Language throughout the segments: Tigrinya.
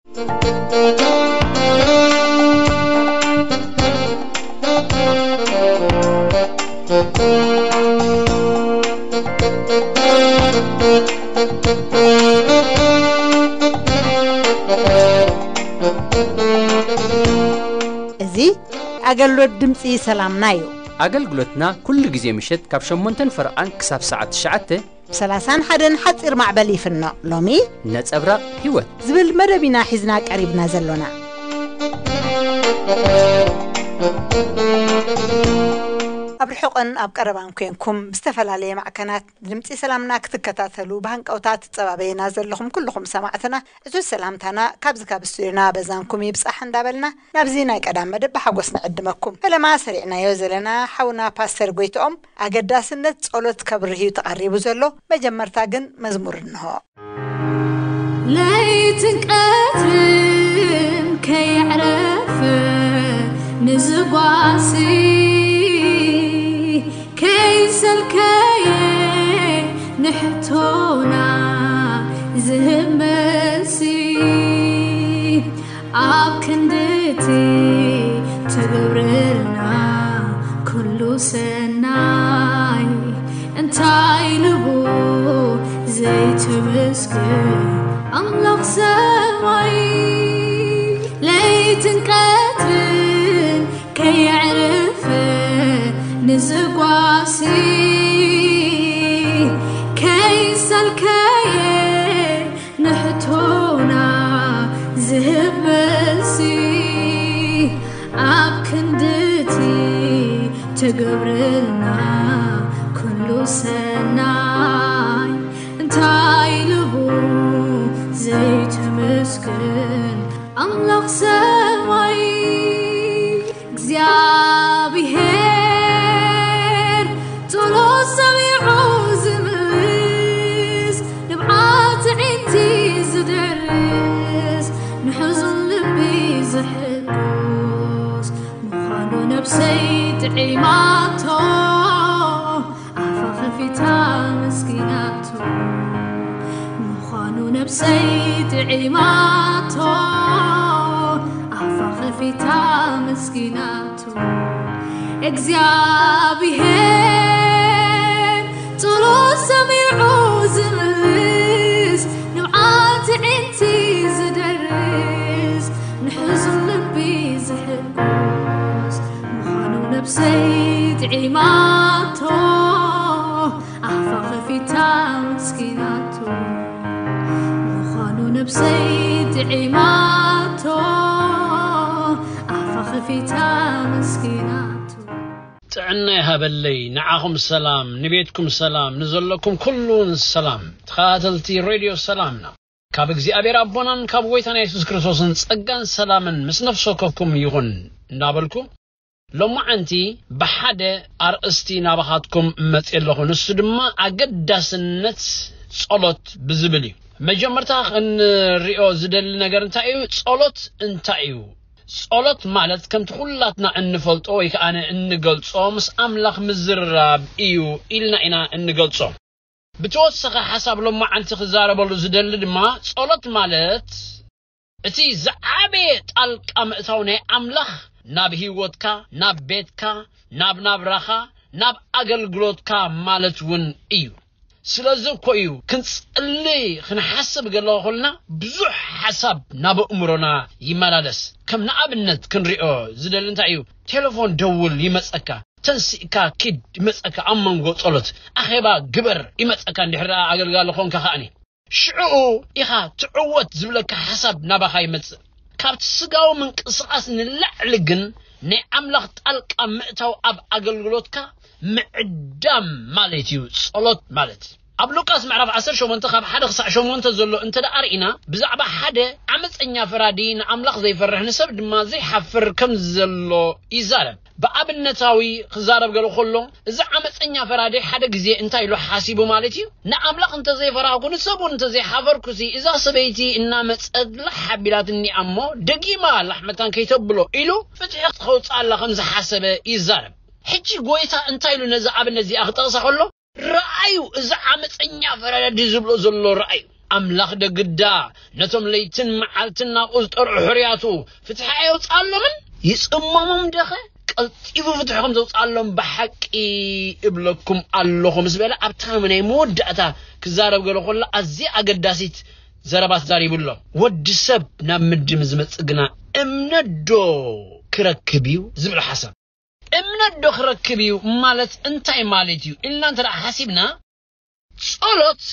እዚ ኣገልግሎት ድምፂ ሰላምና እዩ። ኣገልግሎትና ኩሉ ግዜ ምሸት ካብ ሸሞንተን ፈረቓን ክሳብ ሰዓት ትሽዓተ ብ ሰላሳን ሓደን ሓፂር ማዕበል ይፍኖ። ሎሚ ነጸብራቕ ህይወት ዝብል መደብ ኢና ሒዝና ቀሪብና ዘሎና። ኣብ ርሑቕን ኣብ ቀረባን ኮንኩም ብዝተፈላለየ ማዕከናት ድምፂ ሰላምና ክትከታተሉ ብሃንቀውታ ትጸባበዩና ዘለኹም ኩልኹም ሰማዕትና፣ ዕዙዝ ሰላምታና ካብዚ ካብ ስቱዲዮና በዛንኩም ይብጻሕ እንዳበልና፣ ናብዚ ናይ ቀዳም መደብ ብሓጎስ ንዕድመኩም። ፈለማ ሰሪዕናዮ ዘለና ሓውና ፓስተር ጎይትኦም ኣገዳስነት ጸሎት ከብርህ እዩ ተቐሪቡ ዘሎ። መጀመርታ ግን መዝሙር እንሆ። ለይትን ቀትርን ከየዕረፈ ንዝጓሲ፣ ከይሰልከየ ንሕቶና ዝህብ መልሲ፣ ኣብ ክንድቲ ትገብረልና ኩሉ ሰናይ፣ እንታይ ኢሉ ዘይተመስገን ኣምላኽ ሰማይ። ለይትን ቀትርን ከየዕረፈ ንዝጓሲ፣ ከይሰልከየ ንሕቶና ዝህብ መልሲ፣ ኣብ ክንድቲ ትገብረልና ኩሉ ሰናይ፣ እንታይ ኢሉ ዘይተመስገን ኣምላኽ ሰማይ። እግዚኣብሔር ጸሎት ሰሚዑ ዝምልስ፣ ንብዓት ኣዒንቲ ዝደርስ፣ ንሕዙን ልቢ ዝሕጉስ ምዃኑ ነብሰይ ጥዒማቶ፣ ኣፋ ከፊታ መስኪናቶ። ምዃኑ ነብሰይ ጥዒማቶ፣ ኣፋ ከፊታ መስኪናቶ። እግዚኣብሔር ጸሎት ሰሚዑ ዝምልስ፣ ንብዓት ኣዒንቲ ዝደርስ፣ ንሕዙን ልቢ ዝሕጉስ ምዃኑ ነብሰይ ጥዒማቶ፣ ኣፋ ከፊታ መስኪናቶ። ምዃኑ ነብሰይ ጥዒማቶ፣ ኣፋ ከፊታ መስኪናቶ። ጥዕና ይሃበለይ፣ ንዓኹም ሰላም፣ ንቤትኩም ሰላም፣ ንዘለኩም ኩሉን ሰላም። ተኸታተልቲ ሬድዮ ሰላምና፣ ካብ እግዚኣብሔር ኣቦናን ካብ ጎይታና የሱስ ክርስቶስን ጸጋን ሰላምን ምስ ነፍሲ ወከፍኩም ይኹን እንዳበልኩ፣ ሎማዓንቲ ብሓደ ኣርእስቲ ናባኻትኩም መጽእ ኣለኹ። ንሱ ድማ ኣገዳስነት ጸሎት ብዝብል እዩ። መጀመርታ ክንሪኦ ዝደሊ ነገር እንታይ እዩ? ጸሎት እንታይ እዩ? ጸሎት ማለት ከምቲ ኩላትና እንፈልጦ ወይ ከኣ እንገልጾ ምስ ኣምላኽ ምዝርራብ እዩ ኢልና ኢና እንገልጾ። ብተወሰኸ ሓሳብ ሎማዓንቲ ክዛረበሉ ዝደሊ ድማ ጸሎት ማለት እቲ ዝዓበየ ጣልቃ ምእታው ናይ ኣምላኽ ናብ ህይወትካ፣ ናብ ቤትካ፣ ናብ ናብራኻ፣ ናብ ኣገልግሎትካ ማለት እውን እዩ። ስለዚ እኮ እዩ ክንጽሊ ክንሓስብ ገለ ከለና ብዙሕ ሓሳብ ናብ ኣእምሮና ይመላለስ። ከም ንኣብነት ክንሪኦ ዝደሊ እንታይ እዩ? ቴሌፎን ደውል ይመጸካ፣ ተንሲእካ ኪድ ይመጸካ፣ ኣብ መንጎ ጸሎት ኣኼባ ግበር ይመጸካ፣ እንድሕር ደኣ ኣገልጋሊ ኾንካ ከኣኒ ሽዕኡ ኢኻ ትዕወት ዝብለካ ሓሳብ ናባኻ ይመጽእ። ካብቲ ስጋዊ ምንቅስቓስ ንላዕሊ ግን ናይ ኣምላኽ ጣልቃ ምእታው ኣብ ኣገልግሎትካ ምዕዳም ማለት እዩ ጸሎት ማለት። ኣብ ሉቃስ ምዕራፍ ዓሰርተ ሸሞንተ ካብ ሓደ ክሳዕ ሸሞንተ ዘሎ እንተ ደኣ ርኢና፣ ብዛዕባ ሓደ ዓመጸኛ ፈራዲ ንኣምላኽ ዘይፈርሕ ንሰብ ድማ ዘይሓፍር ከም ዘሎ ይዛረብ። ብኣብነታዊ ክዛረብ ገለ ከሎ፣ እዚ ዓመጸኛ ፈራዲ ሓደ ግዜ እንታይ ኢሉ ሓሲቡ ማለት እዩ? ንኣምላኽ እንተ ዘይፈራህኩ፣ ንሰብ እውን እንተ ዘይሓፈርኩሲ፣ እዛ ሰበይቲ እናመጸት ላሕ ኣቢላትኒ እሞ፣ ደጊማ ላሕ መታን ከይተብሎ ኢሉ ፍትሒ ከውጽኣላ ከም ዝሓሰበ ይዛረብ። ሕጂ ጎይታ እንታይ ኢሉ ነዚ ኣብነት እዚኣ ክጠቕሳ ከሎ፣ ረኣዩ፣ እዚ ዓመጸኛ ፈራዲ ዝብሎ ዘሎ ረኣዩ። ኣምላኽ ደግዳ ነቶም ለይትን መዓልትን ናብኡ ዝጠርዑ ሕርያቱ ፍትሒ ኣየውፅኣሎምን? ይፅመሞም ደኸ? ቀልጢፉ ፍትሒ ከም ዘውፅኣሎም ብሓቂ እብለኩም ኣለኹ ምስ በለ ኣብታ ናይ መወዳእታ ክዛረብ ገለ ከሎ ኣዝያ ኣገዳሲት ዘረባ ተዛሪቡ ኣሎ። ወዲ ሰብ ናብ ምድሪ ምስ ዝመጽእ ግና እምነት ዶ ክረክብ እዩ ዝብል ሓሳብ። እምነት ዶ ክረክብ እዩ ማለት እንታይ ማለት እዩ ኢልና እንተ ደኣ ሓሲብና፣ ጸሎት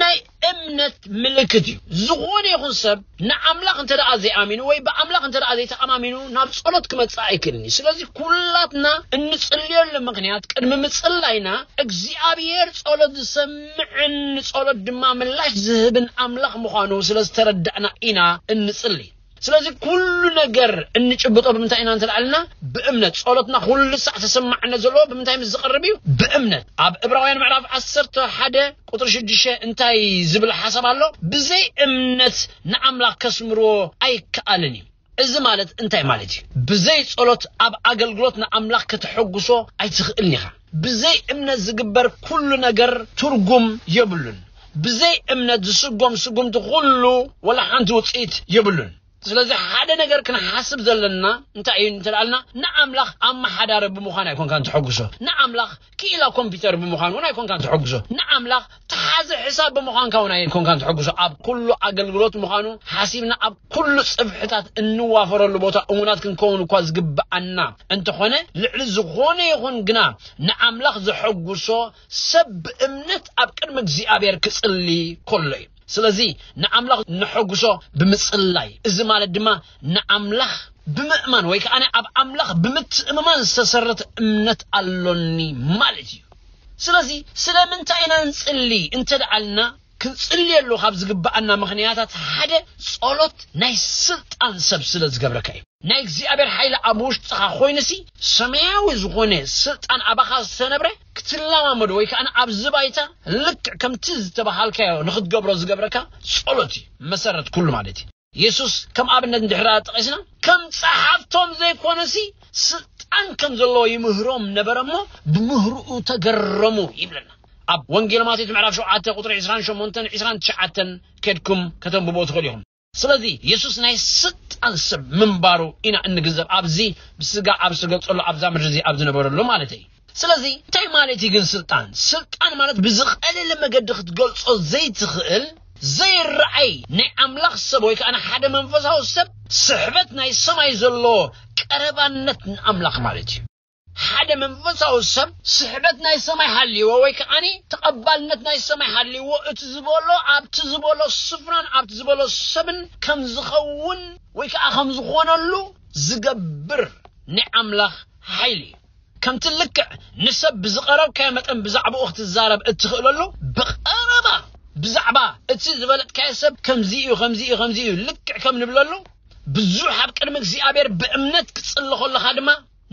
ናይ እምነት ምልክት እዩ። ዝኾነ ይኹን ሰብ ንኣምላኽ እንተ ደኣ ዘይኣሚኑ ወይ ብኣምላኽ እንተ ደኣ ዘይተኣማሚኑ ናብ ጸሎት ክመጽእ ኣይክእልን እዩ። ስለዚ ኩላትና እንጽልየሉ ምኽንያት ቅድሚ ምጽላይና እግዚኣብሔር ጸሎት ዝሰምዕን ንጸሎት ድማ ምላሽ ዝህብን ኣምላኽ ምዃኑ ስለ ዝተረዳእና ኢና እንጽሊ። ስለዚ ኩሉ ነገር እንጭብጦ ብምንታይ ኢና እንተልዓልና ብእምነት። ጸሎትና ኩሉ ሳዕ ተሰማዕነት ዘለዎ ብምንታይ ምስ ዝቐርብ እዩ? ብእምነት። ኣብ ዕብራውያን ምዕራፍ ዓሰርተ ሓደ ቁጥሪ ሽዱሽተ እንታይ ዝብል ሓሳብ ኣሎ? ብዘይ እምነት ንኣምላኽ ከስምርዎ ኣይከኣልን እዩ። እዚ ማለት እንታይ ማለት እዩ? ብዘይ ጸሎት ኣብ ኣገልግሎት ንኣምላኽ ከተሐጉሶ ኣይትኽእልን ኢኻ። ብዘይ እምነት ዝግበር ኩሉ ነገር ትርጉም የብሉን። ብዘይ እምነት ዝስጎም ስጉምቲ ኩሉ ወላ ሓንቲ ውጽኢት የብሉን። ስለዚ ሓደ ነገር ክንሓስብ ዘለና እንታይ እዩ እንተልኣልና፣ ንኣምላኽ ኣመሓዳሪ ብምዃን ኣይኮንካን ትሐጉሶ። ንኣምላኽ ክኢላ ኮምፒውተር ብምዃን እውን ኣይኮንካን ትሐጉሶ። ንኣምላኽ ተሓዚ ሕሳብ ብምዃንካ እውን ኣይኮንካን ትሐጉሶ። ኣብ ኩሉ ኣገልግሎት ምዃኑ ሓሲብና ኣብ ኩሉ ጽፍሕታት እንዋፈረሉ ቦታ እሙናት ክንከውን እኳ ዝግብኣና እንተኾነ፣ ልዕሊ ዝኾነ ይኹን ግና ንኣምላኽ ዘሐጉሶ ሰብ ብእምነት ኣብ ቅድሚ እግዚኣብሔር ክጽሊ ከሎ እዩ። ስለዚ ንኣምላኽ ነሐጉሶ ብምጽላይ፣ እዚ ማለት ድማ ንኣምላኽ ብምእማን ወይ ከኣ ኣብ ኣምላኽ ብምትእምማን ዝተሰረተ እምነት ኣሎኒ ማለት እዩ። ስለዚ ስለምንታይ ኢና ንጽሊ እንተ ደኣልና፣ ክንጽልየሉ ካብ ዝግብኣና ምኽንያታት ሓደ ጸሎት ናይ ስልጣን ሰብ ስለ ዝገብረካ እዩ። ናይ እግዚኣብሔር ሓይሊ ኣብ ውሽጥኻ ኮይኑሲ ሰማያዊ ዝኾነ ስልጣን ኣባኻ ዝተነብረ ክትለማመዶ ወይ ከኣ ኣብዚ ባይታ ልክዕ ከምቲ ዝተባሃልካዮ ንኽትገብሮ ዝገብረካ ጸሎት እዩ መሰረት ኩሉ ማለት እዩ። የሱስ ከም ኣብነት እንድሕር ጠቒስና፣ ከም ጸሓፍቶም ዘይኮነሲ ስልጣን ከም ዘለዎ ይምህሮም ነበረ እሞ ብምህርኡ ተገረሙ ይብለና። ኣብ ወንጌል ማቴዎስ ምዕራፍ ሸውዓተ ቁጥሪ ዕስራን ሸሞንተን ዕስራን ትሽዓተን ከድኩም ከተንብቦ ትኽእሉ ኢኹም። ስለዚ የሱስ ናይ ስልጣን ሰብ ምንባሩ ኢና እንግንዘብ፣ ኣብዚ ብስጋ ኣብ ዝተገልጸሉ ኣብዛ ምድሪ እዚ ኣብ ዝነበረሉ ማለት እዩ። ስለዚ እንታይ ማለት እዩ ግን ስልጣን? ስልጣን ማለት ብዝቐለለ መገዲ ክትገልጾ ዘይትኽእል ዘይረኣይ ናይ ኣምላኽ ሰብ ወይ ከኣ ሓደ መንፈሳዊ ሰብ ስሕበት ናይ ሰማይ ዘሎ ቀረባነት ንኣምላኽ ማለት እዩ። ሓደ መንፈሳዊ ሰብ ስሕበት ናይ ሰማይ ሃልይዎ ወይ ከኣ ተቐባልነት ናይ ሰማይ ሃልይዎ እቲ ዝበሎ ኣብቲ ዝበሎ ስፍራን ኣብቲ ዝበሎ ሰብን ከም ዝኸውን ወይ ከኣ ከም ዝኾነሉ ዝገብር ናይ ኣምላኽ ሓይሊ እዩ። ከምቲ ልክዕ ንሰብ ብዝቐረብካዮ መጠን ብዛዕባኡ ክትዛረብ እትኽእለሉ ብቐረባ ብዛዕባ እቲ ዝበለጥካዮ ሰብ ከምዚ እዩ ከምዚ እዩ ከምዚ እዩ ልክዕ ከም ንብለሉ ብዙሕ ኣብ ቅድሚ እግዚኣብሔር ብእምነት ክትጽሊ ከለኻ ድማ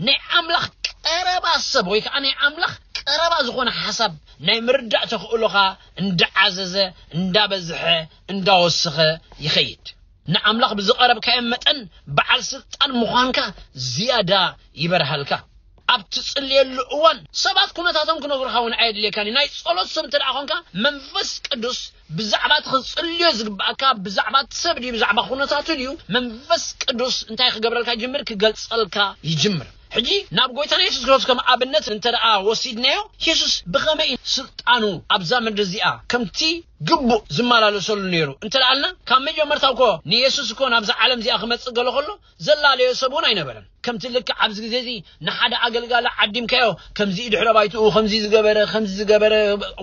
ናይ ኣምላኽ ቀረባ ሰብ ወይ ከዓ ናይ ኣምላኽ ቀረባ ዝኾነ ሓሳብ ናይ ምርዳእ ተኽእሎኻ እንዳዓዘዘ እንዳበዝሐ እንዳወሰኸ ይኸይድ። ንኣምላኽ ብዝቐረብካዮ መጠን በዓል ስልጣን ምዃንካ ዝያዳ ይበርሃልካ። ኣብ ትጽልየሉ እዋን ሰባት ኩነታቶም ክነግሩኻ እውን ኣየድልየካን እዩ። ናይ ጸሎት ሰብ እንተ ደኣ ኾንካ መንፈስ ቅዱስ ብዛዕባ እቲ ክትጽልዮ ዝግብኣካ ብዛዕባ እቲ ሰብ ድዩ ብዛዕባ ኩነታቱ ድዩ መንፈስ ቅዱስ እንታይ ክገብረልካ ይጅምር? ክገልጸልካ ይጅምር። ሕጂ ናብ ጎይታና የሱስ ክርስቶስ ከም ኣብነት እንተ ደኣ ወሲድናዮ፣ የሱስ ብኸመይ እዩ ስልጣኑ ኣብዛ ምድሪ እዚኣ ከምቲ ግቡእ ዝመላለሰሉ ነይሩ እንተ ደኣልና፣ ካብ መጀመርታ እኮ ንየሱስ እኮ ናብዛ ዓለም እዚኣ ክመጽእ ገሎ ከሎ ዘላለዮ ሰብ እውን ኣይነበረን። ከምቲ ልክዕ ኣብዚ ግዜ እዚ ንሓደ ኣገልጋሊ ዓዲምካዮ፣ ከምዚ ድሕረ ባይትኡ ከምዚ ዝገበረ፣ ከምዚ ዝገበረ፣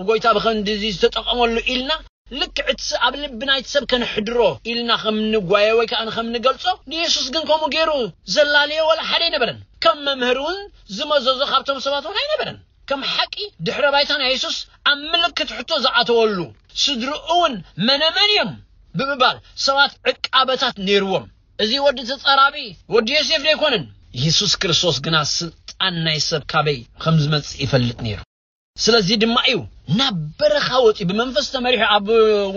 ጎይታ ብኸንዲ እዚ ዝተጠቐመሉ ኢልና ልክዕ እቲ ኣብ ልቢ ናይቲ ሰብ ከነሕድሮ ኢልና ከም ንጓየ ወይ ከኣ ከም ንገልጾ፣ ንየሱስ ግን ከምኡ ገይሩ ዘላለዮ ዋላ ሓደ ኣይነበረን። ከም መምህር እውን ዝመዘዞ ካብቶም ሰባት እውን ኣይነበረን። ከም ሓቂ ድሕረ ባይታ ናይ የሱስ ኣብ ምልክት ሕቶ ዝኣተወሉ፣ ስድርኡ እውን መነመን እዮም ብምባል ሰባት ዕቃበታት ነይርዎም። እዚ ወዲ ተጻራቢ ወዲ ዮሴፍ ዶ ኣይኮነን? የሱስ ክርስቶስ ግና ስልጣን ናይ ሰብ ካበይ ከም ዝመጽእ ይፈልጥ ነይሩ። ስለዚ ድማ እዩ ናብ በረኻ ወጺኡ ብመንፈስ ተመሪሑ። ኣብ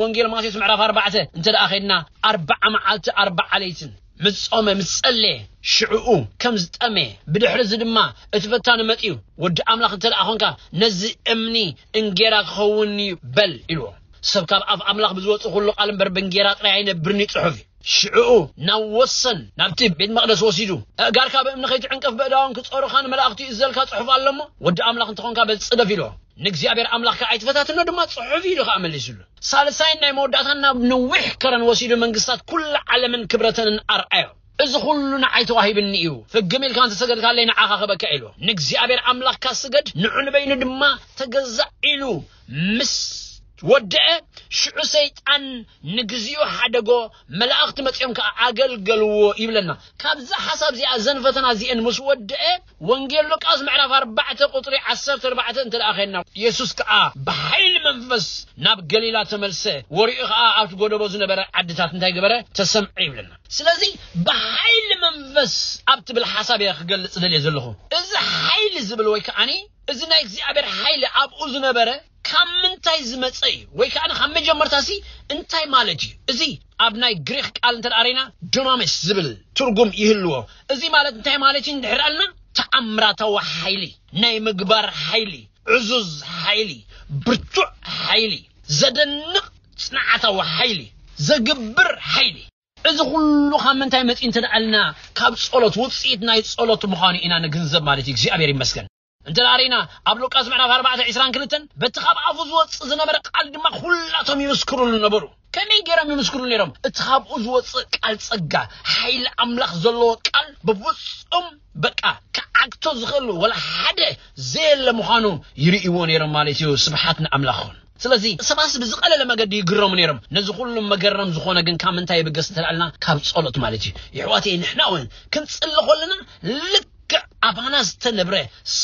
ወንጌል ማቴዎስ ምዕራፍ ኣርባዕተ እንተ ደኣ ኸድና፣ ኣርባዓ መዓልቲ ኣርባዓ ለይትን ምስ ጾመ ምስ ጸለየ ሽዕኡ ከም ዝጠመየ፣ ብድሕሪ እዚ ድማ እቲ ፈታኒ መጺኡ፣ "ወዲ ኣምላኽ እንተ ደኣ ኾንካ ነዚ እምኒ እንጌራ ክኸውን እዩ በል" ኢልዎ። ሰብ ካብ ኣፍ ኣምላኽ ብዝወጽእ ኩሉ ቃል እምበር ብእንጌራ ጥራይ ኣይነብርን እዩ ጽሑፍ እዩ። ሽዕኡ ናብ ወሰን ናብቲ ቤት መቕደስ ወሲዱ፣ ኣእጋርካ ብእምኒ ከይትዕንቀፍ ብእዳዎም ክጸሩኻ ንመላእኽቱ ይእዘልካ ጽሑፍ ኣሎ እሞ፣ ወዲ ኣምላኽ እንተኾንካ በጽደፍ ኢልዎ። ንእግዚኣብሔር ኣምላኽካ ኣይትፈታትኖ ድማ ጽሑፍ ኢሉ ከኣ መሊሱሉ። ሳልሳይን ናይ መወዳእታን ናብ ነዊሕ ከረን ወሲዱ መንግስታት ኩላ ዓለምን ክብረተንን ኣርኣዮ። እዚ ኩሉ ንዓይ ተዋሂብኒ እዩ፣ ፍግም ኢልካ እንተሰገድካለይ ንዓኻ ክበካ ኢሉ። ንእግዚኣብሔር ኣምላኽካ ስገድ፣ ንዑ ንበይኑ ድማ ተገዛእ ኢሉ ምስ ወደአ፣ ሽዑ ሰይጣን ንግዚኡ ሓደጎ፣ መላእኽቲ መጺኦም ከኣ ኣገልገልዎ ይብለና። ካብዛ ሓሳብ እዚኣ፣ እዘን ፈተና እዚአን ምስ ወደአ፣ ወንጌል ሉቃስ ምዕራፍ ኣርባዕተ ቁጽሪ ዓሰርተ ኣርባዕተ እንተ ደኣ ኸድና፣ የሱስ ከኣ ብሓይሊ መንፈስ ናብ ገሊላ ተመልሰ፣ ወሪኡ ኸኣ ኣብቲ ጎደቦ ዝነበረ ዓድታት እንታይ ገበረ? ተሰምዐ ይብለና። ስለዚ ብሓይሊ መንፈስ ኣብ ትብል ሓሳብ እየ ክገልጽ ደልየ ዘለኹ። እዚ ሓይሊ ዝብል ወይ ከኣኒ እዚ ናይ እግዚኣብሔር ሓይሊ ኣብኡ ዝነበረ ካብ ምንታይ ዝመጸ እዩ? ወይ ከኣ ካብ መጀመርታሲ እንታይ ማለት እዩ? እዚ ኣብ ናይ ግሪክ ቃል እንተ ደኣ ርኢና ዱናሚስ ዝብል ትርጉም ይህልዎ። እዚ ማለት እንታይ ማለት እዩ እንድሕር ኣልና፣ ተኣምራታዊ ሓይሊ፣ ናይ ምግባር ሓይሊ፣ ዕዙዝ ሓይሊ፣ ብርቱዕ ሓይሊ፣ ዘደንቕ ጽንዓታዊ ሓይሊ፣ ዘግብር ሓይሊ። እዚ ኩሉ ካብ ምንታይ መጺኡ እንተ ደኣ ኣልና፣ ካብ ጸሎት፣ ውጽኢት ናይ ጸሎት ምዃኑ ኢና ንግንዘብ ማለት እዩ። እግዚኣብሔር ይመስገን። እንተ ደኣ ርኢና፣ ኣብ ሉቃስ ምዕራፍ ኣርባዕተ ዕስራን ክልተን፣ በቲ ካብ ኣፉ ዝወጽእ ዝነበረ ቃል ድማ ኩላቶም ይምስክሩሉ ነበሩ። ከመይ ገይሮም ይምስክሩ ነይሮም? እቲ ካብኡ ዝወጽእ ቃል ጸጋ፣ ሓይሊ ኣምላኽ ዘለዎ ቃል ብፍጹም በቃ ክዓግቶ ዝኽእል ወላ ሓደ ዘየለ ምዃኑ ይርእይዎ ነይሮም ማለት እዩ። ስብሓት ንኣምላኽ ይኹን። ስለዚ ሰባትስ ብዝቐለለ መገዲ ይግረሙ ነይሮም። ነዚ ኩሉ መገረም ዝኾነ ግን ካብ ምንታይ ይብገስ እንተ ደኣ ኣልና፣ ካብ ጸሎት ማለት እዩ። የሕዋተይ፣ ንሕና እውን ክንጽሊ ከለና ልክዕ ኣባና ዝተነብረ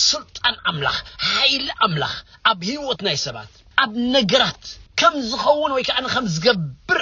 ስልጣን ኣምላኽ፣ ሓይሊ ኣምላኽ ኣብ ህይወት ናይ ሰባት፣ ኣብ ነገራት ከም ዝኸውን ወይ ከኣ ከም ዝገብር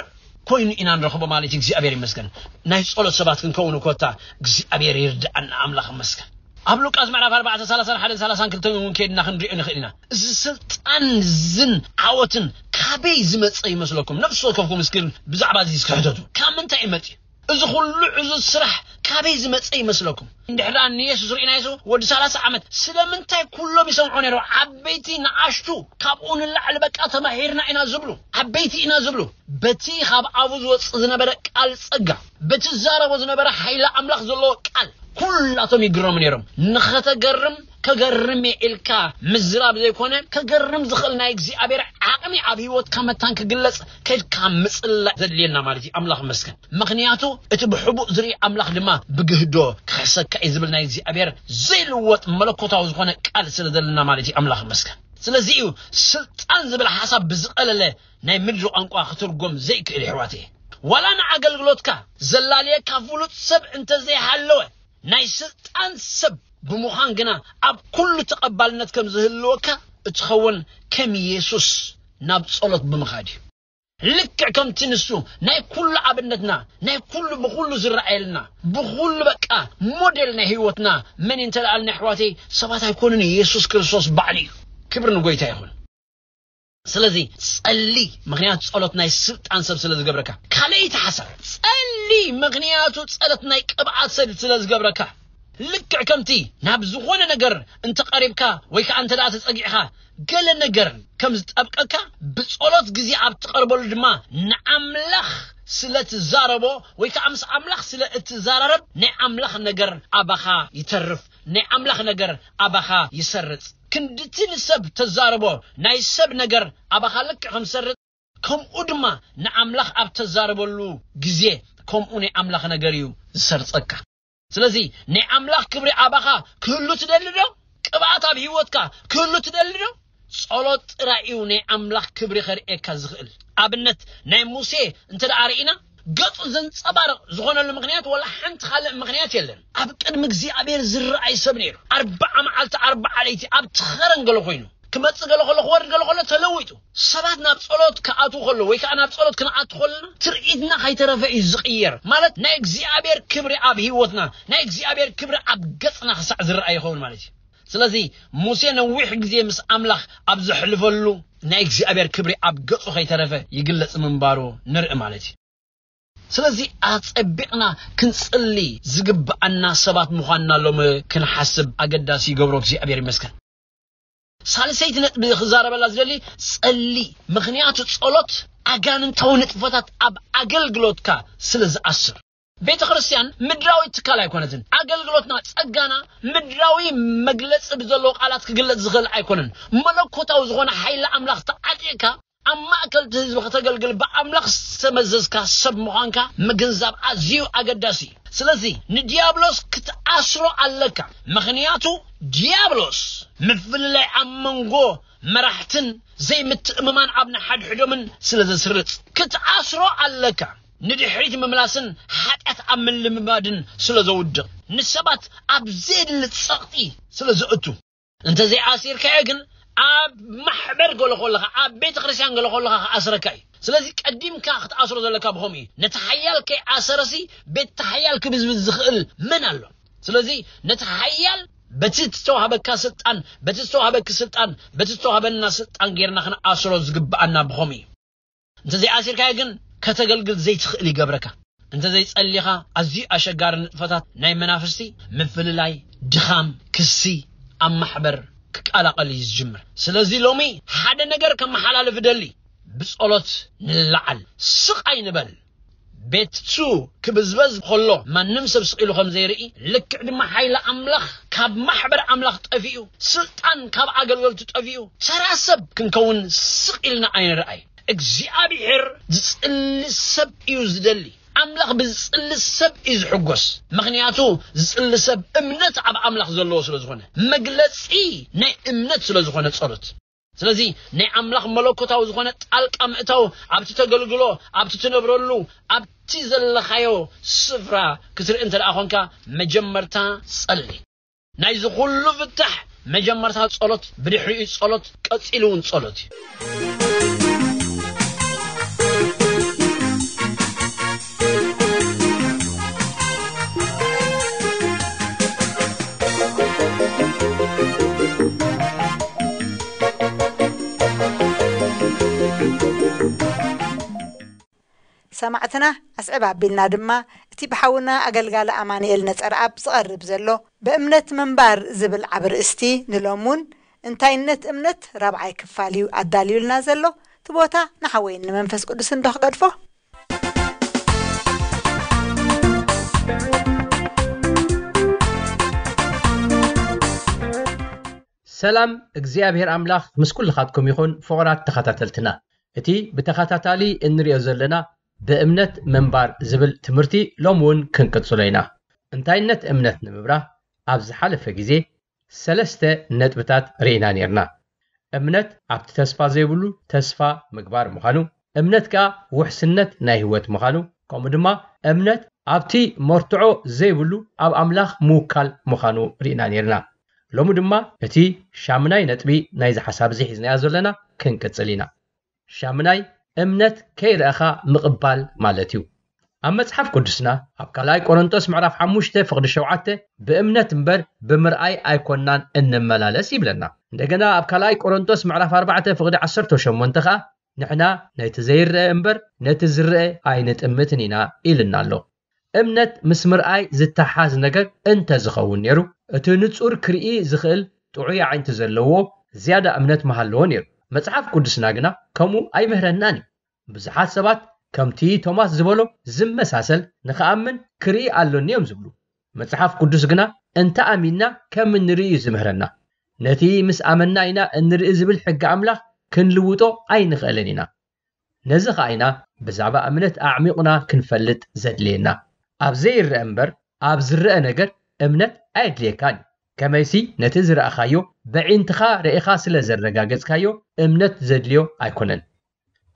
ኮይኑ ኢና ንረኽቦ ማለት እዩ። እግዚኣብሔር ይመስገን። ናይ ጸሎት ሰባት ክንከውን እኮ እታ እግዚኣብሔር ይርድኣና። ኣምላኽ ይመስገን። ኣብ ሉቃስ ምዕራፍ ኣርባዕተ ሰላሳን ሓደን ሰላሳን ክልተን እውን ከይድና ክንሪኦ ንኽእል ኢና። እዚ ስልጣን ዝን ዓወትን ካበይ ዝመጸ ይመስለኩም? ነፍሲ ወከፍኩም እስኪ ብዛዕባ እዚ እስኪ ሕተቱ። ካብ ምንታይ እዩ መጺኡ? እዚ ኩሉ ዕዙዝ ስራሕ ካበይ ዝመጸ ይመስለኩም? እንድሕር ደኣ ንየሱስ ርኢናዮ፣ ወዲ ሰላሳ ዓመት ስለምንታይ ኩሎም ይሰምዑ ነይሮም? ዓበይቲ ንኣሽቱ ካብኡ ንላዕሊ በቃ ተማሂርና ኢና ዝብሉ፣ ዓበይቲ ኢና ዝብሉ። በቲ ካብ ኣፉ ዝወጽእ ዝነበረ ቃል ጸጋ፣ በቲ ዝዛረቦ ዝነበረ ሓይሊ ኣምላኽ ዘለዎ ቃል ኩላቶም ይግረሙ ነይሮም። ንኸተገርም ከገርም እየ ኢልካ ምዝራብ ዘይኮነ፣ ከገርም ዝኽእል ናይ እግዚኣብሔር ዓቕሚ ኣብ ህይወትካ መታን ክግለጽ ከድካ ምጽላእ ዘድልየና ማለት እዩ። ኣምላኽ ይመስገን። ምኽንያቱ እቲ ብሕቡእ ዝርኢ ኣምላኽ ድማ ብግህዶ ክሕሰካ እዩ ዝብል ናይ እግዚኣብሔር ዘይልወጥ መለኮታዊ ዝኾነ ቃል ስለ ዘለና ማለት እዩ። ኣምላኽ ይመስገን። ስለዚ እዩ ስልጣን ዝብል ሓሳብ ብዝቐለለ ናይ ምድሪ ቋንቋ ክትርጎም ዘይክእል፣ የሕዋተየ። ዋላ ንኣገልግሎትካ ዘላልየካ ፍሉጥ ሰብ እንተዘይሃለወ፣ ናይ ስልጣን ሰብ ብምዃን ግና ኣብ ኩሉ ተቐባልነት ከም ዝህልወካ እትኸውን ከም የሱስ ናብ ጸሎት ብምኻድ እዩ። ልክዕ ከምቲ ንሱ ናይ ኩሉ ኣብነትና፣ ናይ ኩሉ ብኹሉ ዝረኣየልና፣ ብኹሉ በቃ ሞዴል ናይ ህይወትና መን እዩ እንተ ደኣ ኣልና፣ ኣሕዋተይ፣ ሰባት ኣይኮኑን፣ የሱስ ክርስቶስ ባዕሉ እዩ። ክብሪ ንጎይታ ይኹን። ስለዚ ጸሊ፣ ምኽንያቱ ጸሎት ናይ ስልጣን ሰብ ስለ ዝገብረካ። ካልኣይቲ ሓሳብ፣ ጸሊ፣ ምኽንያቱ ጸሎት ናይ ቅብኣት ሰብ ስለ ዝገብረካ። ልክዕ ከምቲ ናብ ዝኾነ ነገር እንተቐሪብካ ወይ ከኣ እንተ ደኣ ተጸጊዕካ፣ ገለ ነገር ከም ዝጠብቀካ፣ ብጸሎት ግዜ ኣብ ትቐርበሉ ድማ ንኣምላኽ ስለ ትዛረቦ ወይ ከኣ ምስ ኣምላኽ ስለ እትዘራረብ፣ ናይ ኣምላኽ ነገር ኣባኻ ይተርፍ፣ ናይ ኣምላኽ ነገር ኣባኻ ይሰርጽ። ክንድቲ ንሰብ ተዛረቦ ናይ ሰብ ነገር ኣባኻ ልክዕ ከም ዝሰርጽ፣ ከምኡ ድማ ንኣምላኽ ኣብ ተዛረበሉ ግዜ ከምኡ ናይ ኣምላኽ ነገር እዩ ዝሰርጸካ። ስለዚ ናይ ኣምላኽ ክብሪ ኣባኻ ክህሉ ትደሊ ዶ? ቅብኣት ኣብ ህይወትካ ክህሉ ትደሊ ዶ? ጸሎት ጥራይ እዩ ናይ ኣምላኽ ክብሪ ከርእየካ ዝኽእል። ኣብነት ናይ ሙሴ እንተ ደኣ ርኢና፣ ገጹ ዘንጸባርቕ ዝኾነሉ ምኽንያት ወላ ሓንቲ ካልእ ምኽንያት የለን። ኣብ ቅድሚ እግዚኣብሔር ዝረኣይ ሰብ ነይሩ። ኣርብዓ መዓልቲ ኣርብዓ ለይቲ ኣብቲ ኸረን ገለ ኮይኑ፣ ክመጽእ ገለ ከሎ፣ ክወርድ ገለ ከሎ ተለዊጡ። ሰባት ናብ ጸሎት ክኣትዉ ከለዉ ወይ ከኣ ናብ ጸሎት ክንኣቱ ከለና ትርኢትና ከይተረፈ እዩ ዝቕየር። ማለት ናይ እግዚኣብሔር ክብሪ ኣብ ህይወትና፣ ናይ እግዚኣብሔር ክብሪ ኣብ ገጽና ክሳዕ ዝረኣይ ይኸውን ማለት እዩ። ስለዚ ሙሴ ነዊሕ ግዜ ምስ ኣምላኽ ኣብ ዘሕልፈሉ ናይ እግዚኣብሔር ክብሪ ኣብ ገጹ ከይተረፈ ይግለጽ ምንባሩ ንርኢ ማለት እዩ። ስለዚ ኣጸቢቕና ክንጽሊ ዝግብኣና ሰባት ምዃንና ሎሚ ክንሓስብ ኣገዳሲ ይገብሮ። እግዚኣብሔር ይመስገን። ሳልሰይቲ ነጥቢ ክዛረበላ ዝደሊ፣ ጸሊ። ምኽንያቱ ጸሎት ኣጋንንታዊ ንጥፈታት ኣብ ኣገልግሎትካ ስለ ዝኣስር። ቤተ ክርስቲያን ምድራዊ ትካል ኣይኮነትን። ኣገልግሎትና፣ ጸጋና፣ ምድራዊ መግለጺ ብዘለዎ ቃላት ክግለጽ ዝኽእል ኣይኮነን። መለኮታዊ ዝኾነ ሓይሊ ኣምላኽ ተዓጢቕካ ኣብ ማእከል እቲ ህዝቢ ከተገልግል ብኣምላኽ ዝተመዘዝካ ሰብ ምዃንካ ምግንዛብ ኣዝዩ ኣገዳሲ እዩ። ስለዚ ንዲያብሎስ ክትኣስሮ ኣለካ። ምኽንያቱ ዲያብሎስ ምፍልላይ ኣብ መንጎ መራሕትን ዘይምትእምማን ኣብ ንሓድሕዶምን ስለ ዘስርጽ ክትኣስሮ ኣለካ። ንድሕሪት ምምላስን ሓጢኣት ኣብ ምልምማድን ስለ ዘውድቕ፣ ንሰባት ኣብ ዘየድሊ ጸቕጢ ስለ ዘእቱ፣ እንተዘይኣሲርካዮ ግን ኣብ ማሕበር ገለ ከለኻ፣ ኣብ ቤተ ክርስቲያን ገለ ከለኻ ክኣስረካ እዩ። ስለዚ ቀዲምካ ክትኣስሮ ዘለካ ብኸምኡ እዩ። ነቲ ሓያል ከይኣሰረሲ ቤት ሓያል ክብዝብዝ ዝኽእል መን ኣሎ? ስለዚ ነቲ ሓያል በቲ ዝተዋህበካ ስልጣን፣ በቲ ዝተዋህበኪ ስልጣን፣ በቲ ዝተዋህበና ስልጣን ጌርና ክንኣስሮ ዝግብኣና ብኸምኡ እዩ። እንተዘይኣሲርካዮ ግን ከተገልግል ዘይትኽእል ይገብረካ። እንተዘይጸሊኻ ኣዝዩ ኣሸጋሪ ንጥፈታት ናይ መናፍስቲ፣ ምፍልላይ፣ ድኻም፣ ክሲ ኣብ ማሕበር ክቀላቐል እዩ ዝጅምር። ስለዚ ሎሚ ሓደ ነገር ከመሓላልፍ እደሊ፣ ብጸሎት ንለዓል፣ ስቕ ኣይንበል። ቤቱ ክብዝበዝ ከሎ ማንም ሰብ ስቕ ኢሉ ከም ዘይርኢ፣ ልክዕ ድማ ሓይሊ ኣምላኽ ካብ ማሕበር ኣምላኽ ጠፊኡ፣ ስልጣን ካብ ኣገልገልቱ ጠፊኡ፣ ተራ ሰብ ክንከውን ስቕ ኢልና ኣይንርኣይ። እግዚኣብሔር ዝጽሊ ሰብ እዩ ዝደሊ። ኣምላኽ ብዝጽሊ ሰብ እዩ ዝሕጎስ። ምኽንያቱ ዝጽሊ ሰብ እምነት ኣብ ኣምላኽ ዘለዎ ስለ ዝኾነ፣ መግለጺ ናይ እምነት ስለ ዝኾነ ጸሎት። ስለዚ ናይ ኣምላኽ መለኮታዊ ዝኾነ ጣልቃ ምእታው ኣብቲ ተገልግሎ፣ ኣብቲ ትነብረሉ፣ ኣብቲ ዘለኻዮ ስፍራ ክትርኢ እንተ ደኣ ኾንካ፣ መጀመርታ ጸሊ። ናይዚ ኩሉ ፍታሕ መጀመርታ ጸሎት፣ ብድሕሪኡ ጸሎት፣ ቀጺሉ እውን ጸሎት እዩ። ሰማዕትና ኣስዕብ ኣቢልና ድማ እቲ ብሓውና ኣገልጋሊ ኣማኑኤል ነጸረኣብ ዝቐርብ ዘሎ ብእምነት ምንባር ዝብል ዓቢ ርእስቲ ንሎምውን እንታይነት እምነት ራብዓይ ክፋል እዩ ኣዳልዩልና ዘሎ። እቲ ቦታ ንሓወይን ንመንፈስ ቅዱስን ዶ ክገድፎ? ሰላም እግዚኣብሔር ኣምላኽ ምስ ኩልኻትኩም ይኹን ፍቑራት ተኸታተልትና። እቲ ብተኸታታሊ እንሪኦ ዘለና ብእምነት ምንባር ዝብል ትምህርቲ ሎሚ እውን ክንቅጽሎ ኢና። እንታይነት እምነት ንምብራህ ኣብ ዝሓለፈ ግዜ ሰለስተ ነጥብታት ርኢና ኔርና። እምነት ኣብቲ ተስፋ ዘይብሉ ተስፋ ምግባር ምዃኑ፣ እምነት ከኣ ውሕስነት ናይ ህይወት ምዃኑ፣ ከምኡ ድማ እምነት ኣብቲ መርትዖ ዘይብሉ ኣብ ኣምላኽ ምውካል ምዃኑ ርኢና ኔርና። ሎሚ ድማ እቲ ሻምናይ ነጥቢ ናይዚ ሓሳብ እዚ ሒዝናዮ ዘለና ክንቅጽል ኢና። ሻምናይ፣ እምነት ከይረኣኻ ምቕባል ማለት እዩ። ኣብ መጽሓፍ ቅዱስና ኣብ ካልኣይ ቆሮንቶስ ምዕራፍ ሓሙሽተ ፍቕዲ ሸውዓተ ብእምነት እምበር ብምርኣይ ኣይኮናን እንመላለስ ይብለና። እንደገና ኣብ ካልኣይ ቆሮንቶስ ምዕራፍ ኣርባዕተ ፍቕዲ ዓሰርተ ሸሞንተ ኸኣ ንሕና ነቲ ዘይረኣ እምበር ነቲ ዝረኣ ኣይንጥምትን ኢና ኢልና ኣሎ። እምነት ምስ ምርኣይ ዝተሓዝ ነገር እንተ ዝኸውን ነይሩ፣ እቲ ንጹር ክርኢ ዝኽእል ጥዑይ ኣዒንቲ ዘለዎ ዝያዳ እምነት ምሃለዎ ነይሩ። መጽሓፍ ቅዱስና ግና ከምኡ ኣይምህረናን እዩ። ብዙሓት ሰባት ከምቲ ቶማስ ዝበሎ ዝመሳሰል ንኽኣምን ክርኢ ኣሎኒ እዮም ዝብሉ። መጽሓፍ ቅዱስ ግና እንተ ኣሚንና ከም እንርኢ እዩ ዝምህረና። ነቲ ምስ ኣመንና ኢና እንርኢ ዝብል ሕጊ ኣምላኽ ክንልውጦ ኣይንኽእልን ኢና። ነዚ ኸኣ ኢና ብዛዕባ እምነት ኣዕሚቑና ክንፈልጥ ዘድልየና። ኣብ ዘይረአ እምበር ኣብ ዝረአ ነገር እምነት ኣየድልየካን እዩ። ከመይሲ ነቲ ዝረኣኻዮ በዒንትኻ ርኢኻ ስለ ዘረጋገጽካዮ እምነት ዘድልዮ ኣይኮነን።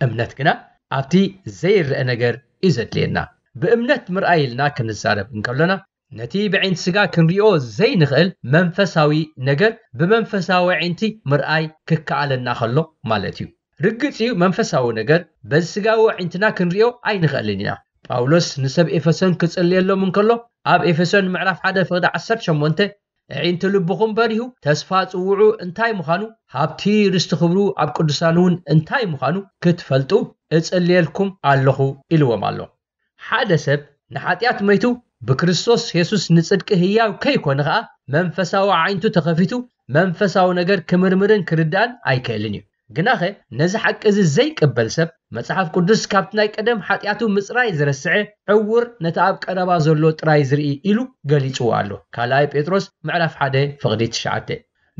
እምነት ግና ኣብቲ ዘይረአ ነገር እዩ ዘድልየና። ብእምነት ምርኣይ ኢልና ክንዛረብ እንከሎና ነቲ ብዒንቲ ስጋ ክንሪኦ ዘይንኽእል መንፈሳዊ ነገር ብመንፈሳዊ ኣዒንቲ ምርኣይ ክከኣለና ከሎ ማለት እዩ። ርግጽ እዩ መንፈሳዊ ነገር በዚ ስጋዊ ኣዒንትና ክንሪኦ ኣይንኽእልን ኢና። ጳውሎስ ንሰብ ኤፌሶን ክጽልየሎም እንከሎ ኣብ ኤፌሶን ምዕራፍ ሓደ ፍቕዲ ዓሰርተ ሸሞንተ ኣዒንቲ ልብኹም በሪሁ ተስፋ ጽውዑ እንታይ ምዃኑ ሃብቲ ርስቲ ክብሩ ኣብ ቅዱሳን እውን እንታይ ምዃኑ ክትፈልጡ እጽልየልኩም ኣለኹ ኢልዎም ኣሎ። ሓደ ሰብ ንሓጢኣት መይቱ ብክርስቶስ የሱስ ንጽድቂ ህያው ከይኮነ ኸኣ መንፈሳዊ ዓይንቱ ተኸፊቱ መንፈሳዊ ነገር ክምርምርን ክርዳእን ኣይክእልን እዩ። ግናኸ ነዚ ሓቂ እዚ ዘይቅበል ሰብ፣ መጽሓፍ ቅዱስ ካብቲ ናይ ቀደም ሓጢኣቱ ምጽራይ ዝረስዐ ዕውር፣ ነቲ ኣብ ቀረባ ዘሎ ጥራይ ዝርኢ ኢሉ ገሊጽዎ ኣሎ። ካልኣይ ጴጥሮስ ምዕራፍ ሓደ ፍቕዲ ትሽዓተ።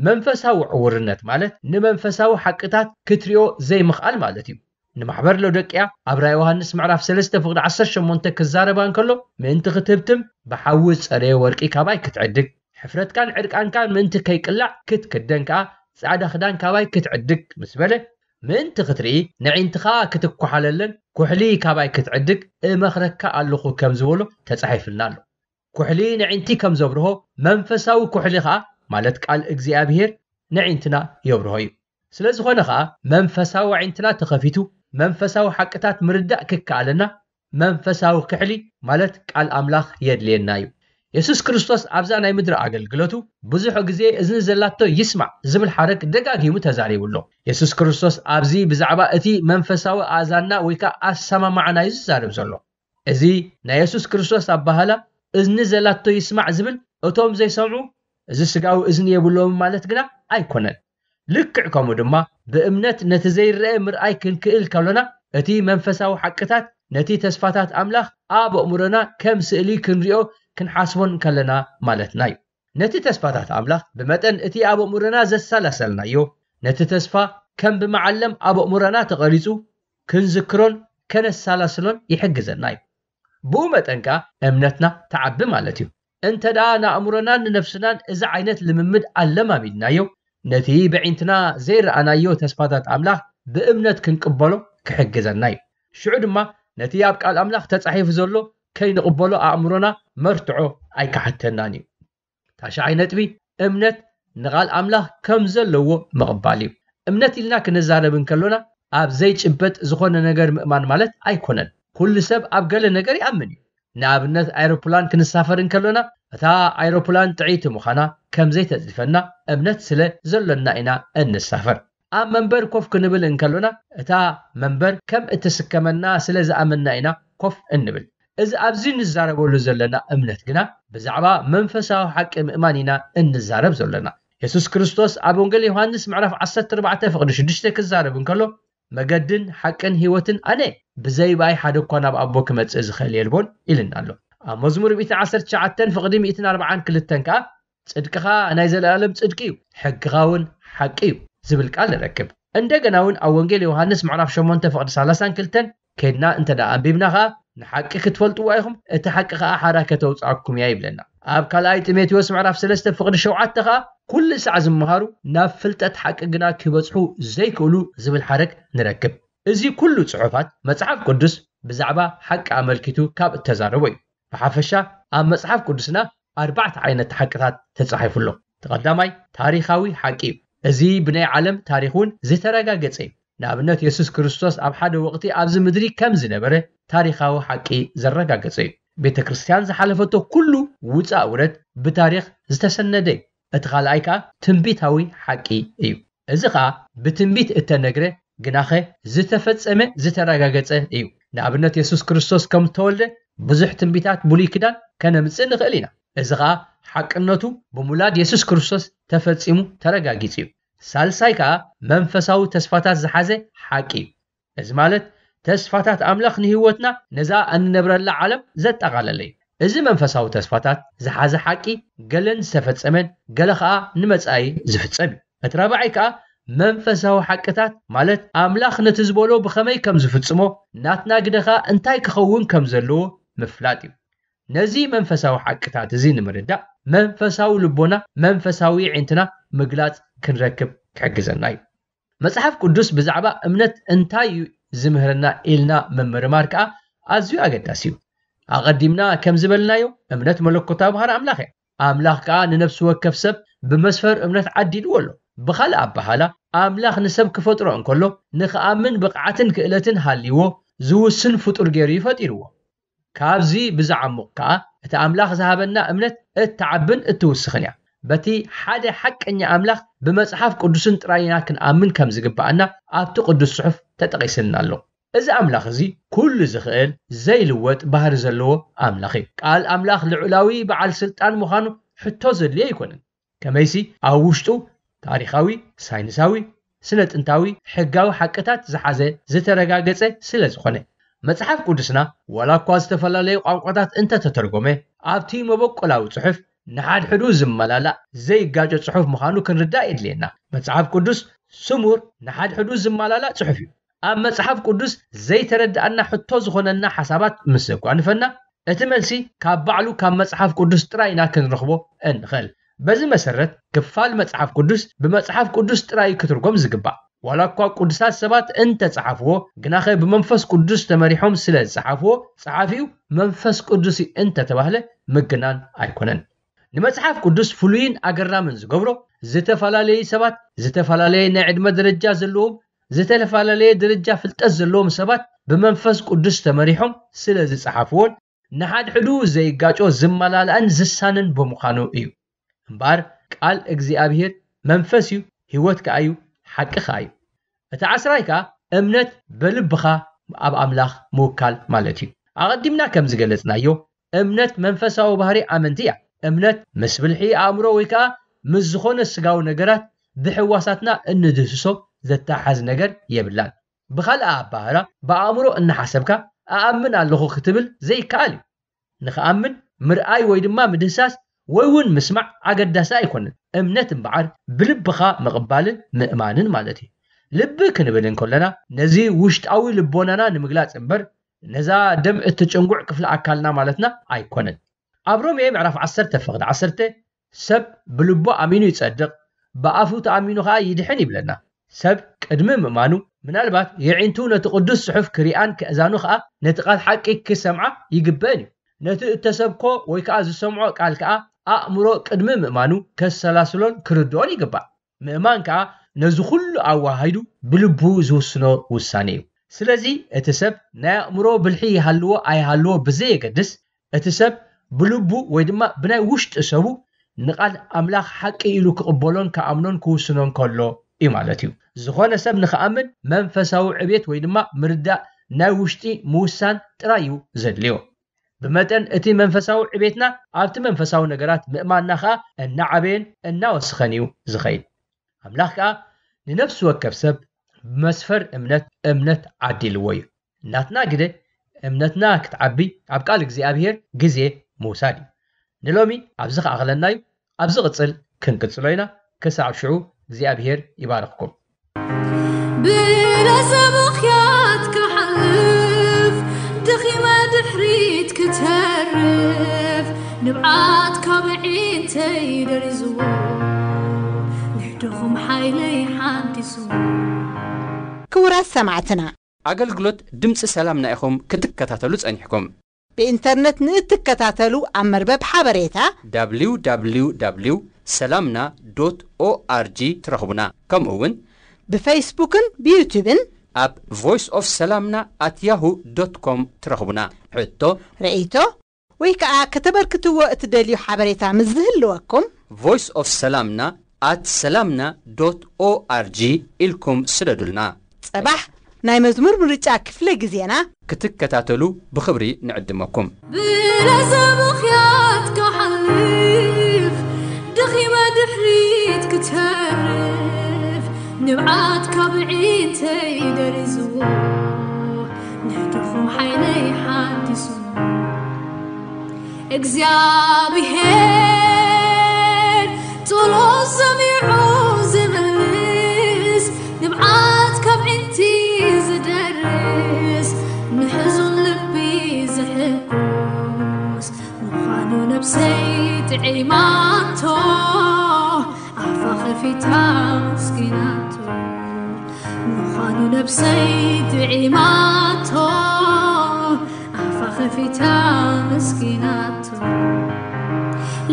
መንፈሳዊ ዕውርነት ማለት ንመንፈሳዊ ሓቅታት ክትሪኦ ዘይምኽኣል ማለት እዩ። ንማሕበር ሎዶቅያ ኣብ ራእይ ዮሃንስ ምዕራፍ ሰለስተ ፍቕዲ ዓሰርተ ሸሞንተ ክዛረባ እንከሎ፣ ምእንቲ ክትህብትም ብሓዊ ዝጸረየ ወርቂ ካባይ ክትዕድግ፣ ሕፍረትካን ዕርቃንካን ምእንቲ ከይቅላዕ ክትክደን ከኣ ጻዕዳ ክዳን ካባይ ክትዕድግ ምስ በለ፣ ምእንቲ ክትርኢ ነዒንትኻ ክትኳሓለለን ኩሕሊ ካባይ ክትዕድግ እመኽረካ ኣለኹ ከም ዝበሎ ተጻሒፍልና ኣሎ። ኩሕሊ ነዒንቲ ከም ዘብርሆ መንፈሳዊ ኩሕሊ ኸኣ ማለት ቃል እግዚኣብሔር ነዒንትና የብርሆ እዩ። ስለ ዝኾነ ኸኣ መንፈሳዊ ኣዒንትና ተኸፊቱ መንፈሳዊ ሓቅታት ምርዳእ ክከኣለና መንፈሳዊ ክሕሊ ማለት ቃል ኣምላኽ የድልየና እዩ። የሱስ ክርስቶስ ኣብዛ ናይ ምድሪ ኣገልግሎቱ ብዙሕ ግዜ እዝኒ ዘላቶ ይስማዕ ዝብል ሓረግ ደጋጊሙ ተዛሪቡ ኣሎ። የሱስ ክርስቶስ ኣብዚ ብዛዕባ እቲ መንፈሳዊ ኣእዛንና ወይ ከኣ ኣሰማማዕና እዩ ዝዛረብ ዘሎ። እዚ ናይ የሱስ ክርስቶስ ኣባህላ እዝኒ ዘላቶ ይስማዕ ዝብል እቶም ዘይሰምዑ እዚ ስጋዊ እዝኒ የብሎምን ማለት ግና ኣይኮነን። ልክዕ ከምኡ ድማ ብእምነት ነቲ ዘይረአ ምርኣይ ክንክእል ከሎና እቲ መንፈሳዊ ሓቅታት ነቲ ተስፋታት ኣምላኽ ኣብ ኣእምሮና ከም ስእሊ ክንሪኦ ክንሓስቦን ከለና ማለትና እዩ። ነቲ ተስፋታት ኣምላኽ ብመጠን እቲ ኣብ ኣእምሮና ዘሰላሰልናዮ ነቲ ተስፋ ከም ብመዓለም ኣብ ኣእምሮና ተቐሪጹ ክንዝክሮን ከነሰላስሎን ይሕግዘና እዩ። ብኡ መጠን ከኣ እምነትና ትዓቢ ማለት እዩ። እንተ ደኣ ንኣእምሮናን ንነፍስናን እዚ ዓይነት ልምምድ ኣለማሚድናዮ፣ ነቲ በዒንትና ዘይረኣናዮ ተስፋታት ኣምላኽ ብእምነት ክንቅበሎ ክሕግዘና እዩ። ሽዑ ድማ ነቲ ኣብ ቃል ኣምላኽ ተጻሒፉ ዘሎ ከይንቕበሎ ኣእምሮና መርትዖ ኣይክሓተናን እዩ። ታሽዓይ ነጥቢ፣ እምነት ንቓል ኣምላኽ ከም ዘለዎ ምቕባል እዩ። እምነት ኢልና ክንዛረብ እንከሎና ኣብ ዘይጭበጥ ዝኾነ ነገር ምእማን ማለት ኣይኮነን። ኩሉ ሰብ ኣብ ገለ ነገር ይኣምን እዩ። ንኣብነት ኣይሮፕላን ክንሳፈር እንከሎና እታ ኣይሮፕላን ጥዕይቲ ምዃና ከም ዘይተጽድፈና እምነት ስለ ዘሎና ኢና እንሳፈር። ኣብ መንበር ኮፍ ክንብል እንከሎና እታ መንበር ከም እትስከመና ስለ ዝኣመንና ኢና ኮፍ እንብል። እዚ ኣብዚ ንዛረበሉ ዘለና እምነት ግና ብዛዕባ መንፈሳዊ ሓቂ ምእማን ኢና እንዛረብ ዘለና። የሱስ ክርስቶስ ኣብ ወንጌል ዮሃንስ ምዕራፍ ዓሰርተ ኣርባዕተ ፍቕዲ ሽዱሽተ ክዛረብ እንከሎ መገድን ሓቅን ህይወትን ኣነ፣ ብዘይ ብኣይ ሓደ እኳ ናብ ኣቦ ክመጽእ ዝኽእል የልቦን ኢልና ኣሎ። ኣብ መዝሙር ሚእትን ዓሰርተ ትሽዓተን ፍቕዲ ሚእትን ኣርባዓን ክልተን ከኣ ጽድቅኻ ናይ ዘለኣለም ጽድቂ እዩ፣ ሕግኻ እውን ሓቂ እዩ ዝብል ቃል ንረክብ። እንደገና እውን ኣብ ወንጌል ዮሃንስ ምዕራፍ ሸሞንተ ፍቕዲ ሰላሳን ክልተን ከድና እንተ ደኣ ኣንቢብና ኸኣ ንሓቂ ክትፈልጥዋ ኢኹም፣ እቲ ሓቂ ኸኣ ሓራ ከተውጽኣኩም እያ ይብለና። ኣብ ካልኣይ ጢሞቴዎስ ምዕራፍ ሰለስተ ፍቕዲ ሸውዓተ ኸኣ ኩሉ ሳዕ ዝመሃሩ ናብ ፍልጠት ሓቂ ግና ክበጽሑ ዘይክእሉ ዝብል ሓረግ ንረክብ። እዚ ኩሉ ጽሑፋት መጽሓፍ ቅዱስ ብዛዕባ ሓቂ ኣመልኪቱ ካብ እተዛረቦ እዩ። ብሓፈሻ ኣብ መጽሓፍ ቅዱስና ኣርባዕተ ዓይነት ሓቅታት ተጻሒፉ ኣሎ። እቲ ቀዳማይ ታሪኻዊ ሓቂ እዩ። እዚ ብናይ ዓለም ታሪኽ እውን ዝተረጋገጸ እዩ። ንኣብነት የሱስ ክርስቶስ ኣብ ሓደ ወቕቲ ኣብዚ ምድሪ ከም ዝነበረ ታሪኻዊ ሓቂ ዘረጋገጸ እዩ። ቤተ ክርስቲያን ዝሓለፈቶ ኩሉ ውጻእ ውረድ ብታሪኽ ዝተሰነደ እዩ። እቲ ካልኣይ ከኣ ትንቢታዊ ሓቂ እዩ። እዚ ኸኣ ብትንቢት እተነግረ ግናኸ ዝተፈጸመ ዝተረጋገጸ እዩ። ንኣብነት የሱስ ክርስቶስ ከም እተወልደ ብዙሕ ትንቢታት ብሉይ ኪዳን ከነምጽእ ንኽእል ኢና። እዚ ኸኣ ሓቅነቱ ብምውላድ የሱስ ክርስቶስ ተፈጺሙ ተረጋጊጹ እዩ። ሳልሳይ ከኣ መንፈሳዊ ተስፋታት ዝሓዘ ሓቂ እዩ። እዚ ማለት ተስፋታት ኣምላኽ ንህይወትና ነዛ እንነብረላ ዓለም ዘጠቓለለ እዩ። እዚ መንፈሳዊ ተስፋታት ዝሓዘ ሓቂ ገለን ዝተፈጸመን ገለ ኸኣ ንመጻኢ ዝፍጸም እዩ። እቲ ራብዓይ ከኣ መንፈሳዊ ሓቅታት ማለት ኣምላኽ ነቲ ዝበሎ ብኸመይ ከም ዝፍጽሞ ናትና ግደ ኸኣ እንታይ ክኸውን ከም ዘለዎ ምፍላጥ እዩ። ነዚ መንፈሳዊ ሓቅታት እዚ ንምርዳእ መንፈሳዊ ልቦና መንፈሳዊ ኣዒንትና ምግላጽ ክንረክብ ክሕግዘና እዩ። መጽሓፍ ቅዱስ ብዛዕባ እምነት እንታይ እዩ ዝምህረና ኢልና ምምርማር ከኣ ኣዝዩ ኣገዳሲ እዩ። ኣቐዲምና ከም ዝበልናዮ እምነት መለኮታዊ ባህሪ ኣምላኽ እያ። ኣምላኽ ከኣ ንነፍሲ ወከፍ ሰብ ብመስፈር እምነት ዓዲልዎ ኣሎ። ብኻልእ ኣበሃላ ኣምላኽ ንሰብ ክፈጥሮ እንከሎ ንኽኣምን ብቕዓትን ክእለትን ሃልይዎ ዝውስን ፍጡር ገይሩ እዩ ፈጢርዎ። ካብዚ ብዝዓሙቕ ከኣ እቲ ኣምላኽ ዝሃበና እምነት እትዓብን እትውስኽን እያ። በቲ ሓደ ሓቀኛ ኣምላኽ ብመጽሓፍ ቅዱስን ጥራይ ኢና ክንኣምን ከም ዝግብኣና ኣብቲ ቅዱስ ጽሑፍ ተጠቒስልና ኣሎ። እዚ ኣምላኽ እዚ ኩሉ ዝኽእል ዘይልወጥ ባህሪ ዘለዎ ኣምላኽ እዩ። ቃል ኣምላኽ ልዑላዊ በዓል ስልጣን ምዃኑ ሕቶ ዘድልዮ ኣይኮነን። ከመይሲ ኣብ ውሽጡ ታሪኻዊ፣ ሳይንሳዊ፣ ስነ ጥንታዊ፣ ሕጋዊ ሓቅታት ዝሓዘ ዝተረጋገጸ ስለ ዝኾነ። መጽሓፍ ቅዱስና ዋላ እኳ ዝተፈላለዩ ቋንቋታት እንተተተርጎመ፣ ኣብቲ መበቆላዊ ጽሑፍ ንሓድሕዱ ዝመላላእ ዘይጋጮ ጽሑፍ ምዃኑ ክንርዳእ የድልየና። መጽሓፍ ቅዱስ ስሙር ንሓድሕዱ ዝመላላእ ጽሑፍ እዩ። ኣብ መጽሓፍ ቅዱስ ዘይተረድኣና ሕቶ ዝኾነና ሓሳባት ምስ ዘጓንፈና፣ እቲ መልሲ ካብ ባዕሉ ካብ መጽሓፍ ቅዱስ ጥራይ ኢና ክንረኽቦ እንኽእል። በዚ መሰረት ክፋል መጽሓፍ ቅዱስ ብመጽሓፍ ቅዱስ ጥራይ ክትርጎም ዝግባእ። ዋላ እኳ ቅዱሳት ሰባት እንተጸሓፍዎ፣ ግናኸ ብመንፈስ ቅዱስ ተመሪሖም ስለ ዝጸሓፍዎ፣ ጸሓፊኡ መንፈስ ቅዱስ እዩ እንተተባህለ ምግናን ኣይኮነን። ንመጽሓፍ ቅዱስ ፍሉይን ኣገራምን ዝገብሮ፣ ዝተፈላለዩ ሰባት፣ ዝተፈላለየ ናይ ዕድመ ደረጃ ዘለዎም፣ ዝተፈላለየ ደረጃ ፍልጠት ዘለዎም ሰባት ብመንፈስ ቅዱስ ተመሪሖም ስለ ዝጸሓፍዎን ንሓድሕዱ ዘይጋጮ ዝመላላእን ዝሳንን ብምዃኑ እዩ። እምበኣር ቃል እግዚኣብሔር መንፈስ እዩ፣ ህይወት ከኣ እዩ፣ ሓቂ ከኣ እዩ። እቲ ዓስራይ ከኣ እምነት በልብኻ ኣብ ኣምላኽ ምውካል ማለት እዩ። ኣቐዲምና ከም ዝገለጽናዮ እምነት መንፈሳዊ ባህሪ ኣመንቲ እያ። እምነት ምስ ብልሒ ኣእምሮ ወይ ከኣ ምስ ዝኾነ ስጋዊ ነገራት ብሕዋሳትና እንድህስሶ ዘተሓዝ ነገር የብላን። ብኻልእ ኣባህራ ብኣእምሮ እናሓሰብካ ኣኣምን ኣለኹ ክትብል ዘይከኣል እዩ። ንኽኣምን ምርኣይ ወይ ድማ ምድህሳስ ወይ እውን ምስማዕ ኣገዳሲ ኣይኮነን። እምነት እምበዓር ብልብኻ ምቕባልን ምእማንን ማለት እዩ። ልቢ ክንብል እንከለና ነዚ ውሽጣዊ ልቦናና ንምግላጽ እምበር ነዛ ደም እትጭንጉዕ ክፍሊ ኣካልና ማለትና ኣይኮነን። ኣብ ሮሜ ምዕራፍ ዓሰርተ ፍቕዲ ዓሰርተ ሰብ ብልቡ ኣሚኑ ይጸድቕ፣ ብኣፉ ተኣሚኑ ኸኣ ይድሕን ይብለና። ሰብ ቅድሚ ምእማኑ ምናልባት የዒንቱ ነቲ ቅዱስ ጽሑፍ ክሪኣን ክእዛኑ ኸኣ ነቲ ቃል ሓቂ ክሰምዓ ይግበእን እዩ። ነቲ እተሰብኮ ወይ ከኣ ዝሰምዖ ቃል ከኣ ኣእምሮ ቅድሚ ምእማኑ ከሰላስሎን ክርድኦን ይግባእ። ምእማን ከኣ ነዚ ኩሉ ኣወሃሂዱ ብልቡ ዝውስኖ ውሳኔ እዩ። ስለዚ እቲ ሰብ ናይ ኣእምሮ ብልሒ ይሃልዎ ኣይሃልዎ ብዘየገድስ እቲ ሰብ ብልቡ ወይ ድማ ብናይ ውሽጢ ሰቡ ንቓል ኣምላኽ ሓቂ ኢሉ ክቕበሎን ክኣምኖን ክውስኖን ከሎ እዩ ማለት እዩ። ዝኾነ ሰብ ንኽኣምን መንፈሳዊ ዕቤት ወይ ድማ ምርዳእ ናይ ውሽጢ ምውሳን ጥራይ እዩ ዘድልዮ። ብመጠን እቲ መንፈሳዊ ዕቤትና ኣብቲ መንፈሳዊ ነገራት ምእማንና ኸኣ እናዓበየን እናወስኸን እዩ ዝኸይድ። ኣምላኽ ከኣ ንነፍሲ ወከፍ ሰብ ብመስፈር እምነት እምነት ዓዲልዎ እዩ። ናትና ግደ እምነትና ክትዓቢ ኣብ ቃል እግዚኣብሔር ግዜ ምውሳድ እዩ። ንሎሚ ኣብዚ ከኣኽለና እዩ። ኣብ ዝቕጽል ክንቅጽሎ ኢና። ክሳብ ሽዑ እግዚኣብሔር ይባርኽኩም። ብለዘ ምኽያት ክሓልፍ፣ ደኺመ ድሕሪት ክተርፍ፣ ንብዓት ካብ ዒንተይ ደሪዝዎ፣ ንሕድኹም ሓይለይ ሓዲስዎ። ክቡራት ሰማዕትና፣ ኣገልግሎት ድምፂ ሰላምና ኢኹም ክትከታተሉ ጸኒሕኩም። ብኢንተርነት ንእትከታተሉ ኣብ መርበብ ሓበሬታ www ሰላምና ዶት ኦኣርጂ ትረኽቡና። ከምኡ እውን ብፌስቡክን ብዩቱብን ኣብ ቮይስ ኦፍ ሰላምና ኣት ያሁ ዶት ኮም ትረኽቡና። ሕቶ፣ ርእይቶ ወይ ከኣ ከተበርክትዎ እትደልዩ ሓበሬታ ምስ ዝህልወኩም ቮይስ ኦፍ ሰላምና ኣት ሰላምና ዶት ኦኣርጂ ኢልኩም ስደዱልና። ጸባሕ ናይ መዝሙር ምርጫ ክፍለ ግዜና ክትከታተሉ ብኽብሪ ንዕድመኩም። ብለዘ ምኽያት ክሓልፍ፣ ደኺመ ድሕሪት ክተርፍ፣ ንብዓት ካብ ዒንተይ ደሪዝዎ፣ ንሕድኹም ሓይለይ ሓዲሱ። እግዚኣብሔር ጸሎት ሰሚዑ ዝምልስ፣ ንብዓት ካብ ዒንቲ ዝደርስ፣ ንሕዙን ልቢ ዝሕጉስ ምዃኑ ነብሰይ ጥዒማቶ፣ ኣፋ ኸፊታ ኣመስጊናቶ። ምዃኑ ነብሰይ ጥዒማቶ፣ ኣፋ ኸፊታ ኣመስጊናቶ።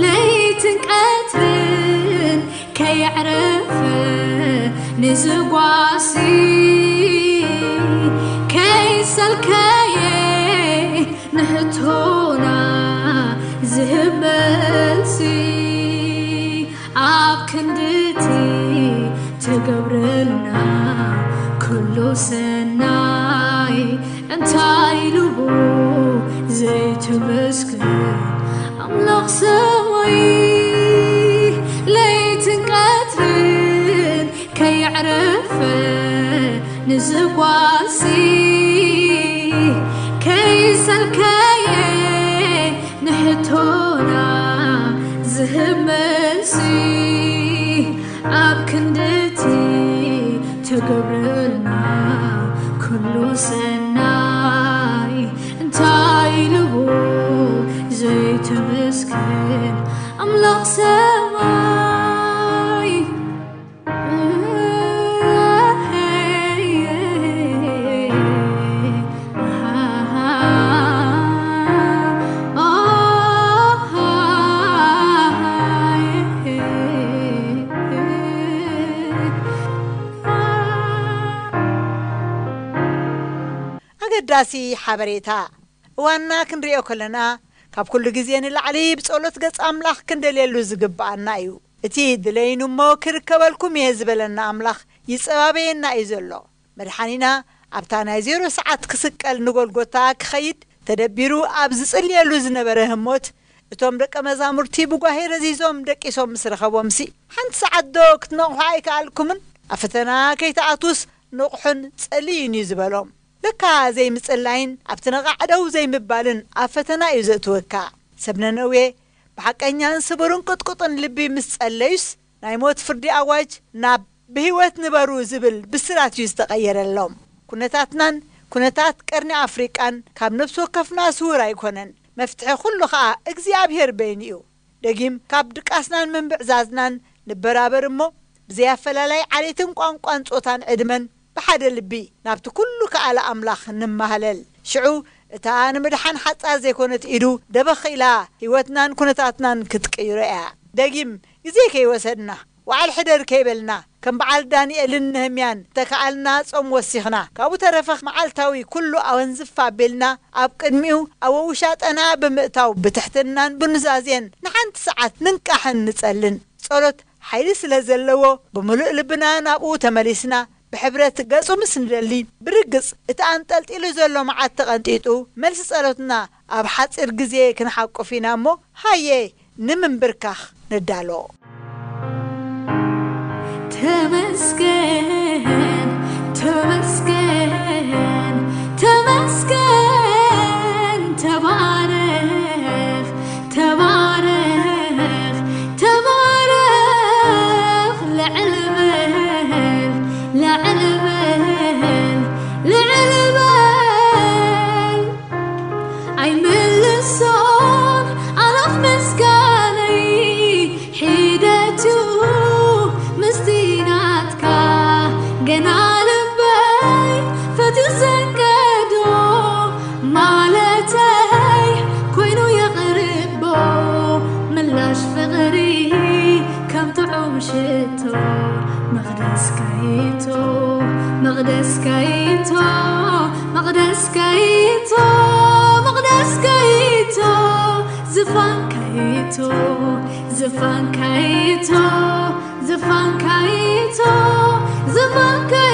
ለይትን ቀትርን ከየዕረፈ ንዝጓሲ ከይሰልከየ ንሕቶና ዝህብ መልሲ፣ ኣብ ክንድቲ ትገብረልና ኩሉ ሰናይ፣ እንታይ ኢሉ ዘይትመስገን ኣምላኽ ሰማይ። ለይትን ቀትርን ክንድቲ ተገብረልና ኩሉ ሰናይ እንታይ ኢልዎ ዘይተመስገን ኣምላኽ ሰማይ። ኣገዳሲ ሓበሬታ። እዋንና ክንሪኦ ከለና፣ ካብ ኩሉ ግዜ ንላዕሊ ብጸሎት ገጽ ኣምላኽ ክንደልየሉ ዝግብኣና እዩ። እቲ ድለይኑ እሞ ክርከበልኩም እየ ዝበለና ኣምላኽ ይጸባበየና እዩ ዘሎ። መድሓኒና ኣብታ ናይ ዜሮ ሰዓት ክስቀል ንጎልጎታ ክኸይድ ተደቢሩ ኣብ ዝጽልየሉ ዝነበረ ህሞት፣ እቶም ደቀ መዛሙርቲ ብጓሄ ረዚዞም ደቂሶም ምስ ረኸቦምሲ፣ ሓንቲ ሰዓት ዶ ክትነቕሑ ኣይከኣልኩምን? ኣብ ፈተና ከይትኣትዉስ ንቕሑን ጸልዩን እዩ ዝበሎም። ለካ ዘይምጽላይን ኣብቲ ነቓዕ ደው ዘይምባልን ኣብ ፈተና እዩ ዘእትወካ። ሰብ ነነዌ ብሓቀኛን ስቡርን ቅጥቁጥን ልቢ ምስ ጸለዩስ፣ ናይ ሞት ፍርዲ ኣዋጅ ናብ ብህይወት ንበሩ ዝብል ብስራት እዩ ዝተቐየረሎም። ኩነታትናን ኩነታት ቀርኒ ኣፍሪቃን ካብ ነፍሲ ወከፍና ስውር ኣይኮነን። መፍትሒ ኩሉ ኸኣ እግዚኣብሔር በይኑ እዩ። ደጊም ካብ ድቃስናን ምንብዕዛዝናን ንበራበር እሞ፣ ብዘይ ኣፈላላይ ዓሌትን ቋንቋን ጾታን ዕድመን ብሓደ ልቢ ናብቲ ኩሉ ከኣለ ኣምላኽ ንማህለል። ሽዑ እታ ንምድሓን ሓጻር ዘይኮነት ኢዱ ደበኽ ኢላ ህይወትናን ኩነታትናን ክትቅይሮ እያ። ደጊም ግዜ ከይወሰድና፣ ወዓል ሕደር ከይበልና፣ ከም በዓል ዳንኤልን ነህምያን ተከኣልና ጾም ወሲኽና፣ ካብኡ ተረፈ መዓልታዊ ኩሉ ኣወንዝፍ ኣቢልና ኣብ ቅድሚኡ ኣብ ውሻጠና ብምእታው ብትሕትናን ብኑዛዜን ንሓንቲ ሰዓት ንንቃሕን ንጸልን። ጸሎት ሓይሊ ስለ ዘለዎ፣ ብምሉእ ልብና ናብኡ ተመሊስና ብሕብረት ገጹ ምስ ንደሊ፣ ብርግጽ እቲ ኣንጠልጢሉ ዘሎ መዓት ተቐንጢጡ፣ መልሲ ጸሎትና ኣብ ሓጺር ግዜ ክንሓቁፍ ኢና እሞ፣ ሃየ ንምንብርካኽ ንዳሎ። ተመስገን፣ ተመስገን፣ ተመስገን፣ ተባረኽ፣ ተባረኽ፣ ተባረኽ፣ ልዕል በል፣ ልዕል በል፣ ልዕል በል። ኣይምልሶን ኣላፍ ምስጋነይ ሒደቱ ምስቲ ናትካ ገና ልበይ ፈትዩ ዘንቀዶ ማለተይ ኮይኑ የቕርቦ ምላሽ ፍቕሪ ከም ጥዑም ሽቶ መቕደስካይቶ መቕደስካይቶ መቕደስካይቶ መቕደስካይቶ ዝፋንካይቶ ዝፋንካይቶ ዝፋንካይቶ ዝፋንካይቶ